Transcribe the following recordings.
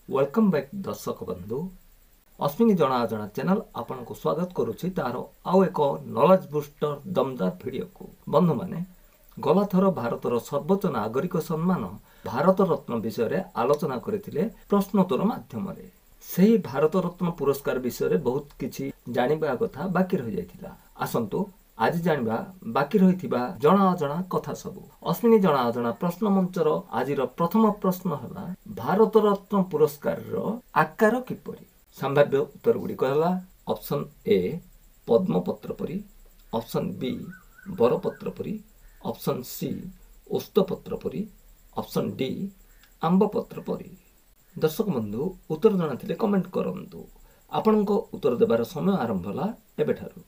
Welcome back ଦର୍ଶକ ବନ୍ଧୁ, ଅଶ୍ବିନୀ ଜଣା ଅଜଣା ଚ୍ୟାନେଲ ଆପଣଙ୍କୁ ସ୍ୱାଗତ କରୁଛି ତାର ଆଉ ଏକ ନଲେଜ ବୁଷ୍ଟର ଦମଦାର ଭିଡ଼ିଓକୁ। ବନ୍ଧୁମାନେ, ଗଲାଥର ଭାରତର ସର୍ବୋଚ୍ଚ ନାଗରିକ ସମ୍ମାନ ଭାରତ ରତ୍ନ ବିଷୟରେ ଆଲୋଚନା କରିଥିଲେ ପ୍ରଶ୍ନୋତ୍ତର ମାଧ୍ୟମରେ। ସେହି ଭାରତ ରତ୍ନ ପୁରସ୍କାର ବିଷୟରେ ବହୁତ କିଛି ଜାଣିବା କଥା ବାକି ରହିଯାଇଥିଲା। ଆସନ୍ତୁ ଆଜି ଜାଣିବା ବାକି ରହିଥିବା ଜଣା ଅଜଣା କଥା ସବୁ। ଅଶ୍ବିନୀ ଜଣା ଅଜଣା ପ୍ରଶ୍ନ ମଞ୍ଚର ଆଜିର ପ୍ରଥମ ପ୍ରଶ୍ନ ହେଲା, ଭାରତ ରତ୍ନ ପୁରସ୍କାରର ଆକାର କିପରି? ସମ୍ଭାବ୍ୟ ଉତ୍ତର ଗୁଡ଼ିକ ହେଲା ଅପସନ୍ ଏ ପଦ୍ମପତ୍ର ପରି, ଅପସନ୍ ବି ବରପତ୍ର ପରି, ଅପସନ୍ ସି ଓସ୍ତପତ୍ର ପରି, ଅପସନ୍ ଡି ଆମ୍ବପତ୍ର ପରି। ଦର୍ଶକ ବନ୍ଧୁ, ଉତ୍ତର ଜଣାଥିଲେ କମେଣ୍ଟ କରନ୍ତୁ। ଆପଣଙ୍କ ଉତ୍ତର ଦେବାର ସମୟ ଆରମ୍ଭ ହେଲା ଏବେଠାରୁ।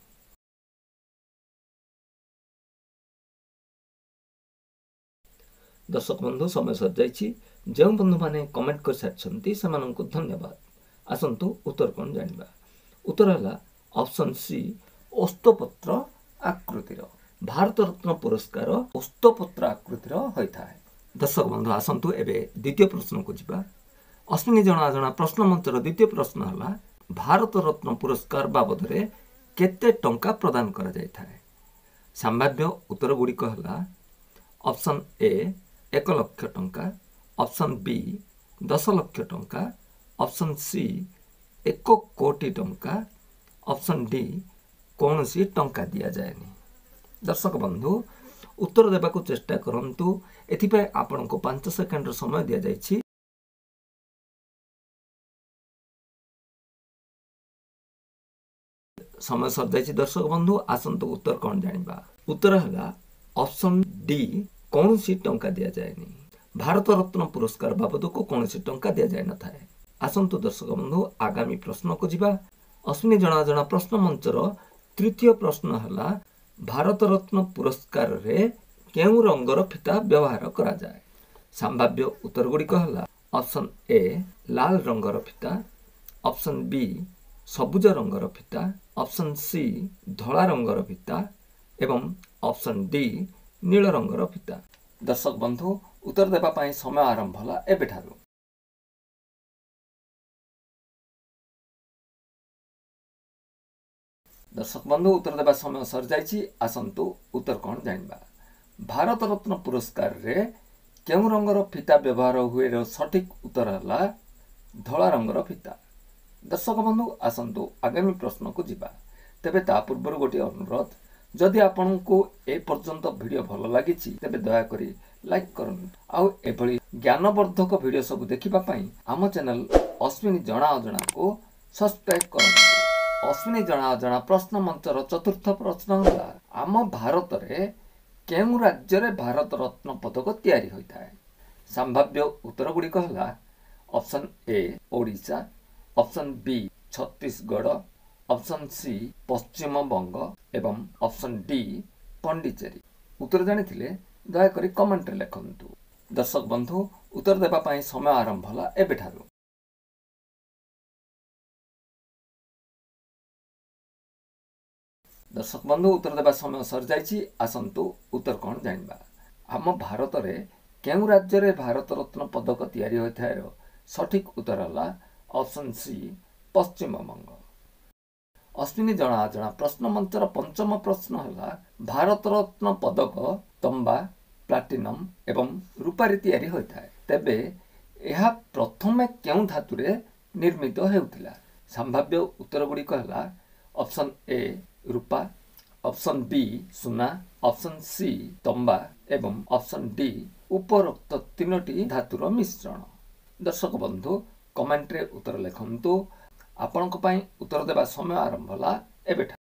ଦର୍ଶକ ବନ୍ଧୁ, ସମୟ ସରିଯାଇଛି। ଯେଉଁ ବନ୍ଧୁମାନେ କମେଣ୍ଟ କରିସାରିଛନ୍ତି ସେମାନଙ୍କୁ ଧନ୍ୟବାଦ। ଆସନ୍ତୁ ଉତ୍ତର କ'ଣ ଜାଣିବା। ଉତ୍ତର ହେଲା ଅପସନ୍ ସି ଓସ୍ତପତ୍ର ଆକୃତିର। ଭାରତ ରତ୍ନ ପୁରସ୍କାର ଓସ୍ତପତ୍ର ଆକୃତିର ହୋଇଥାଏ। ଦର୍ଶକ ବନ୍ଧୁ, ଆସନ୍ତୁ ଏବେ ଦ୍ୱିତୀୟ ପ୍ରଶ୍ନକୁ ଯିବା। ଅଶ୍ବିନୀ ଜଣା ଅଜଣା ପ୍ରଶ୍ନ ମଞ୍ଚର ଦ୍ୱିତୀୟ ପ୍ରଶ୍ନ ହେଲା, ଭାରତ ରତ୍ନ ପୁରସ୍କାର ବାବଦରେ କେତେ ଟଙ୍କା ପ୍ରଦାନ କରାଯାଇଥାଏ? ସମ୍ଭାବ୍ୟ ଉତ୍ତର ଗୁଡ଼ିକ ହେଲା ଅପସନ୍ ଏ 1 ଲକ୍ଷ ଟଙ୍କା, ଅପସନ୍ ବି 10 ଲକ୍ଷ ଟଙ୍କା, ଅପସନ୍ ସି 1 କୋଟି ଟଙ୍କା, ଅପସନ୍ ଡି କୌଣସି ଟଙ୍କା ଦିଆଯାଏନି। ଦର୍ଶକ ବନ୍ଧୁ, ଉତ୍ତର ଦେବାକୁ ଚେଷ୍ଟା କରନ୍ତୁ। ଏଥିପାଇଁ ଆପଣଙ୍କୁ 5 ସେକେଣ୍ଡର ସମୟ ଦିଆଯାଇଛି। ସମୟ ସରିଯାଇଛି। ଦର୍ଶକ ବନ୍ଧୁ, ଆସନ୍ତୁ ଉତ୍ତର କ'ଣ ଜାଣିବା। ଉତ୍ତର ହେଲା ଅପସନ୍ ଡି କୌଣସି ଟଙ୍କା ଦିଆଯାଏନି। ଭାରତ ରତ୍ନ ପୁରସ୍କାର ବାବଦକୁ କୌଣସି ଟଙ୍କା ଦିଆଯାଇନଥାଏ। ଆସନ୍ତୁ ଦର୍ଶକ ବନ୍ଧୁ, ଆଗାମୀ ପ୍ରଶ୍ନକୁ ଯିବା। ଅଶ୍ବିନୀ ଜଣା ଜଣା ପ୍ରଶ୍ନ ମଞ୍ଚର ତୃତୀୟ ପ୍ରଶ୍ନ ହେଲା, ଭାରତ ରତ୍ନ ପୁରସ୍କାରରେ କେଉଁ ରଙ୍ଗର ଫିତା ବ୍ୟବହାର କରାଯାଏ? ସମ୍ଭାବ୍ୟ ଉତ୍ତର ଗୁଡ଼ିକ ହେଲା ଅପସନ୍ ଏ ଲାଲ ରଙ୍ଗର ଫିତା, ଅପସନ୍ ବି ସବୁଜ ରଙ୍ଗର ଫିତା, ଅପସନ୍ ସି ଧଳା ରଙ୍ଗର ଫିତା ଏବଂ ଅପସନ୍ ଡି ନୀଳ ରଙ୍ଗର ଫିତା। ଦର୍ଶକ ବନ୍ଧୁ, ଉତ୍ତର ଦେବା ପାଇଁ ସମୟ ଆରମ୍ଭ ହେଲା ଏବେଠାରୁ। ଦର୍ଶକ ବନ୍ଧୁ, ଉତ୍ତର ଦେବା ସମୟ ସରିଯାଇଛି। ଆସନ୍ତୁ ଉତ୍ତର କ'ଣ ଜାଣିବା। ଭାରତ ରତ୍ନ ପୁରସ୍କାରରେ କେଉଁ ରଙ୍ଗର ଫିତା ବ୍ୟବହାର ହୁଏର ସଠିକ ଉତ୍ତର ହେଲା ଧଳା ରଙ୍ଗର ଫିତା। ଦର୍ଶକ ବନ୍ଧୁ, ଆସନ୍ତୁ ଆଗାମୀ ପ୍ରଶ୍ନକୁ ଯିବା। ତେବେ ତା ପୂର୍ବରୁ ଗୋଟିଏ ଅନୁରୋଧ, ଯଦି ଆପଣଙ୍କୁ ଏ ପର୍ଯ୍ୟନ୍ତ ଭିଡ଼ିଓ ଭଲ ଲାଗିଛି ତେବେ ଦୟାକରି ଲାଇକ୍ କରନ୍ତୁ, ଆଉ ଏଭଳି ଜ୍ଞାନବର୍ଦ୍ଧକ ଭିଡ଼ିଓ ସବୁ ଦେଖିବା ପାଇଁ ଆମ ଚ୍ୟାନେଲ ଅଶ୍ବିନୀ ଜଣା ଅଜଣାକୁ ସବସ୍କ୍ରାଇବ୍ କରନ୍ତୁ। ଅଶ୍ବିନୀ ଜଣା ଅଜଣା ପ୍ରଶ୍ନ ମଞ୍ଚର ଚତୁର୍ଥ ପ୍ରଶ୍ନ ହେଲା, ଆମ ଭାରତରେ କେଉଁ ରାଜ୍ୟରେ ଭାରତ ରତ୍ନ ପଦକ ତିଆରି ହୋଇଥାଏ? ସମ୍ଭାବ୍ୟ ଉତ୍ତର ଗୁଡ଼ିକ ହେଲା option A Odisha, option B Chhattisgarh, option C Paschimbanga ଏବଂ ଅପସନ୍ ଡି ପଣ୍ଡିଚେରୀ। ଉତ୍ତର ଜାଣିଥିଲେ ଦୟାକରି କମେଣ୍ଟରେ ଲେଖନ୍ତୁ। ଦର୍ଶକ ବନ୍ଧୁ, ଉତ୍ତର ଦେବା ପାଇଁ ସମୟ ଆରମ୍ଭ ହେଲା ଏବେଠାରୁ। ଦର୍ଶକ ବନ୍ଧୁ, ଉତ୍ତର ଦେବା ସମୟ ସରିଯାଇଛି। ଆସନ୍ତୁ ଉତ୍ତର କ'ଣ ଜାଣିବା। ଆମ ଭାରତରେ କେଉଁ ରାଜ୍ୟରେ ଭାରତ ରତ୍ନ ପଦକ ତିଆରି ହୋଇଥାଏ ସଠିକ ଉତ୍ତର ହେଲା ଅପସନ୍ ସି ପଶ୍ଚିମବଙ୍ଗ। ଅଶ୍ବିନୀ ଜଣା ଅଜଣା ପ୍ରଶ୍ନ ମଞ୍ଚର ପଞ୍ଚମ ପ୍ରଶ୍ନ ହେଲା, ଭାରତ ରତ୍ନ ପଦକ ତମ୍ବା, ପ୍ଲାଟିନମ୍ ଏବଂ ରୂପାରେ ତିଆରି ହୋଇଥାଏ। ତେବେ ଏହା ପ୍ରଥମେ କେଉଁ ଧାତୁରେ ନିର୍ମିତ ହେଉଥିଲା? ସମ୍ଭାବ୍ୟ ଉତ୍ତର ଗୁଡ଼ିକ ହେଲା option A Rupa, option B ସୁନା, ଅପସନ୍ ସି ତମ୍ବା ଏବଂ ଅପସନ୍ ଡି ଉପରୋକ୍ତ ତିନୋଟି ଧାତୁର ମିଶ୍ରଣ। ଦର୍ଶକ ବନ୍ଧୁ, କମେଣ୍ଟରେ ଉତ୍ତର ଲେଖନ୍ତୁ। ଆପଣଙ୍କ ପାଇଁ ଉତ୍ତର ଦେବା ସମୟ ଆରମ୍ଭ ହେଲା ଏବେଠାରୁ।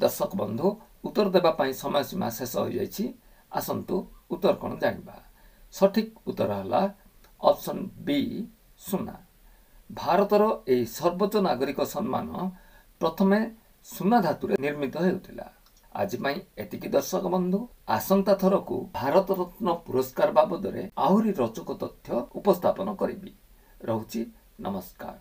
ଦର୍ଶକ ବନ୍ଧୁ, ଉତ୍ତର ଦେବା ପାଇଁ ସମୟ ସୀମା ଶେଷ ହୋଇଯାଇଛି। ଆସନ୍ତୁ ଉତ୍ତର କ'ଣ ଜାଣିବା। ସଠିକ ଉତ୍ତର ହେଲା ଅପସନ୍ ବି ସୁନା। ଭାରତର ଏହି ସର୍ବୋଚ୍ଚ ନାଗରିକ ସମ୍ମାନ ପ୍ରଥମେ ସୁନା ଧାତୁରେ ନିର୍ମିତ ହେଉଥିଲା। ଆଜି ପାଇଁ ଏତିକି ଦର୍ଶକ ବନ୍ଧୁ, ଆସନ୍ତା ଥରକୁ ଭାରତ ରତ୍ନ ପୁରସ୍କାର ବାବଦରେ ଆହୁରି ରୋଚକ ତଥ୍ୟ ଉପସ୍ଥାପନ କରିବି। ରହୁଛି, ନମସ୍କାର।